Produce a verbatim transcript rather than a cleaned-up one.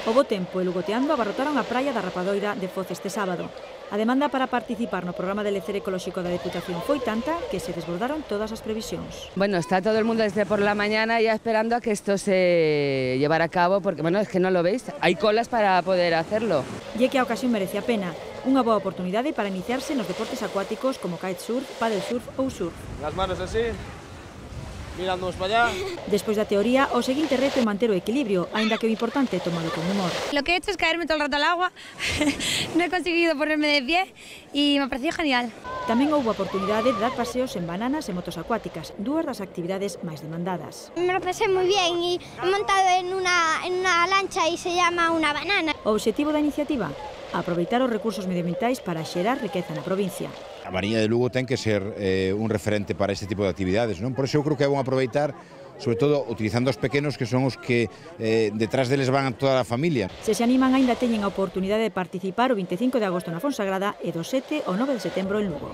O bo tempo e Lugoteando abarrotaron a praia da Rapadoira de Foz este sábado. A demanda para participar no programa de lecer ecolóxico da Deputación foi tanta que se desbordaron todas as previsións. Bueno, está todo el mundo desde por la mañana ya esperando a que esto se llevara a cabo, porque bueno, es que no lo veis, hay colas para poder hacerlo. E é que a ocasión merece a pena. Unha boa oportunidade para iniciarse nos deportes acuáticos como kitesurf, paddlesurf ou surf. Las manos así, mirándonos para allá. Despois da teoría, o seguinte reto é manter o equilibrio, aínda que o importante é tomalo con humor. Lo que he hecho es caerme todo el rato al agua, no he conseguido ponerme de pie y me ha parecido genial. Tamén houve a oportunidade de dar paseos en bananas e motos acuáticas, dúas das actividades máis demandadas. Me lo pasé muy bien y he montado en una, en una lancha y se llama una banana. O obxectivo da iniciativa? Aproveitar os recursos medioambientais para xerar riqueza na provincia. A Mariña de Lugo ten que ser eh, un referente para este tipo de actividades, non? Por iso eu creo que é bom aproveitar, sobre todo utilizando os pequenos, que son os que eh, detrás deles van a toda a familia. Se se animan, aínda teñen a oportunidade de participar o veinticinco de agosto na Fonsagrada e do sete ao nove de setembro en Lugo.